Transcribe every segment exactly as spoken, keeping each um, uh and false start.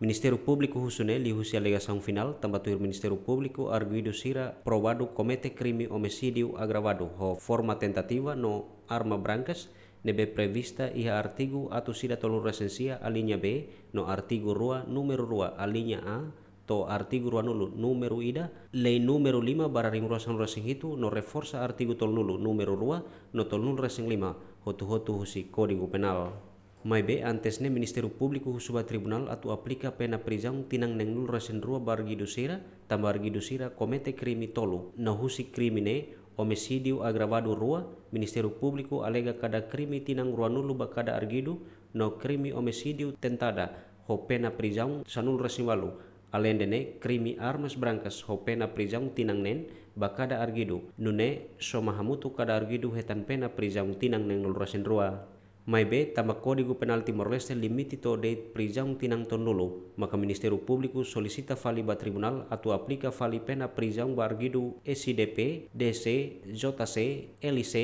Ministériu Públiku husu ne'e liuhusi alegasaun finál, tanba tuir Ministériu Públiku arguidu sira provadu komete krime omisídiu agravadu ho forma tentativa no arma brankas ne'ebé prevista iha artigu atus ida tolunulu-resin-sia alínea B no artigu rua númeru rua alínea A to'o artigu ruanulu númeru ida, lei númeru lima barra rimorua sanulu-resin-hitu no reforsa artigu tolunulu númeru rua no tolunulu-resin-lima hotu-hotu husi Kódigu Penál. Maibé antes ne'e Ministériu Públiku husu ba tribunál atu aplika pena prizaun tinan neenulu-resin-rua ba arguidu sira, tanba arguidu sira komete krime tolu. No husi krime ne'e, omisídiu agravadu rua, Ministériu Públiku alega kada krime tinan ruanulu ba kada arguidu, no krime omisídiu tentada ho pena prizaun sanulu-resin-ualu. Aleinde ne'e, krime armas brankas ho pena prizaun tinan neen ba kada arguidu, nune'e soma hamutuk kada arguidu hetan pena prizaun tinan neenulu-resin-rua. Maibé, tanba Kódigu Penál Timor-Leste limite to'o de'it prizaun tinan tolunulu, maka Ministériu Públiku solisita fali ba tribunál atu aplika fali pena prizaun ba arguidu S D P, D C, J C, L C,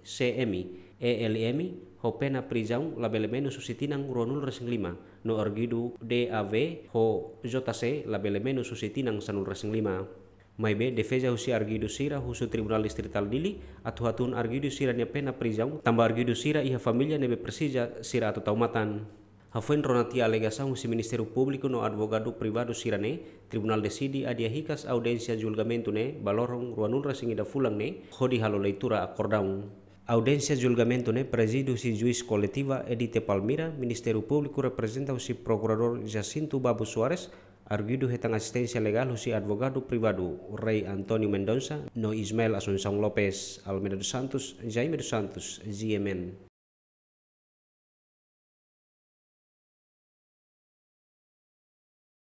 C M, E L M, ho pena prizaun labele menus husi tinan ruanulu-resin-lima, no arguidu D A V ho J C labele menus husi tinan sanulu-resin-lima. Maibé, defeza husi arguidu sira husu Tribunál Distritál Dili atu hatún arguidu sira-nia pena prizaun, tanba arguidu sira iha família ne'ebé presiza sira atu tau matan. Hafoin rona tiha alegasaun husi Ministériu Públiku no advogadu privadu sira-ne'e, tribunál deside adia hikas audiénsia julgamentu ne'e ba loron ruanulu-resin-ida fulan ne'e, hodi halo leitura akordaun. Audiénsia julgamentu ne'e prezide husi juís koletiva Edite Palmira, Ministériu Públiku reprezenta husi Prokuradór Jacinto Babu Soares, arguidu hetan asisténsia legál husi advogadu privadu Rei António Mendonça no Ismael Assunção Lopes. Almeida dos Santos, Jaime dos Santos, G M N.